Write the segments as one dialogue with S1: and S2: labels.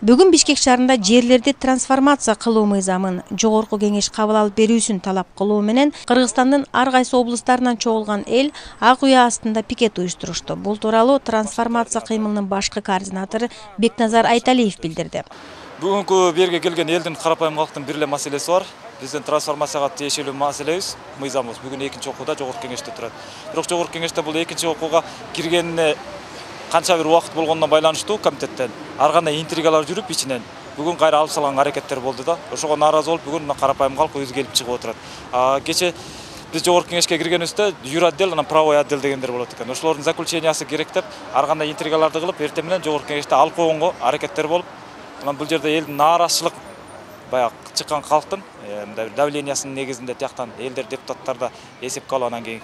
S1: Бүгүн Бишкек шаарында жерлерди трансформация кылуу мыйзамын жогорку кеңеш кабыл алып берүүсүн талап кылуу менен Кыргызстандын ар кайсы облустарынан чогулган эл ак уя астында пикет уюштурушту. Бул тууралуу трансформация кыймылынын башкы координатору Бекназар Айталиев билдирди.
S2: Бүгүнкү берге келген элдин карапайым калктын бир эле маселеси бар. Биздин трансформацияга тиешелүү маселебиз, мыйзамыбыз бүгүн экинчи окууда жогорку кеңеште турат. Бирок жогорку кеңеште бул экинчи окууга киргенине канча бир убакыт болгондон байланыштуу комитеттен ар кандай интригалар жүрүп ичинен бүгүн кайра алып салган аракеттер болду да. Ошого нааразы болуп бүгүн карапайым калк өзү келип чыгып отурат. Кече биз жогорку кеңешке киргенибизде юротдел анан правовой отдел дегендер болот экен. Ошолордун заключениясы керек деп ар кандай интригаларды кылып эртең менен жогорку кеңеште алып койгонго аракеттер болуп, анан бул жерде элдин нааразычылык баягы чыккан калктын давлениясынын негизинде тияктан элдер депутаттар да эсепке алып анан кийин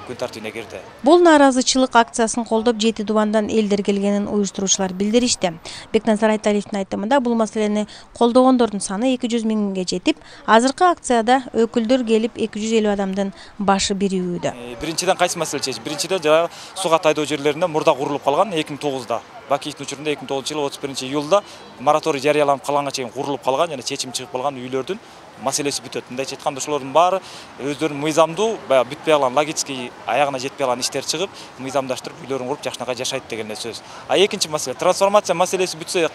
S2: күн тартибине кирди.
S1: Бул нааразычылык акциясын колдоп 7 дубандан элдер келгенин уюштуруучулар билдиришти. Бекназар Айталиевдин айтымында бул маселени колдогондордун саны 200 миңге жетип, азыркы акцияда өкүлдөр келип 250 адамдын башы биригүүдө.
S2: Биринчиден кайсы маселе чечиш? Биринчиден жанагы суга тайдоо жерлеринде мурда курулуп калган 2009да. Бакиевдин учурунда 2009-жылы 31-июлда мораторий жарыяланып калганга чейин курулуп калган жана чечим чыгып калган үйлөрдүн маселеси бүтөт. Мындайча айтканда ошолордун баары өздөрүнүн мыйзамдуу, баягы бүтпөй калган логический аягына жетпей калган иштер чыгып, мыйзамдаштырып үйлөрүн куруп жакшынакай жашайт деген сөз. Экинчи маселе трансформация маселеси бүтсө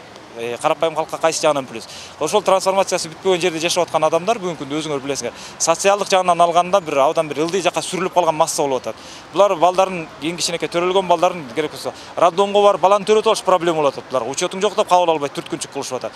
S2: карапайым калкка кайсы жагынан плюс. Ошол трансформациясы бүткөн жерде жашап аткан адамдар бүгүнкү күндө өзүңөр билесиңер, социалдык жагынан алганда бир абдан бир ылдый жакка сүрүлүп калган масса болуп атат. Булар балдарын кийин кичинекей төрөлгөн балдарын керек болсо роддомго барып баланы төрөтүп алыш проблема болуп атат. Буларга учетуң жок деп кабыл албай түрткүнчүк кылышып атат.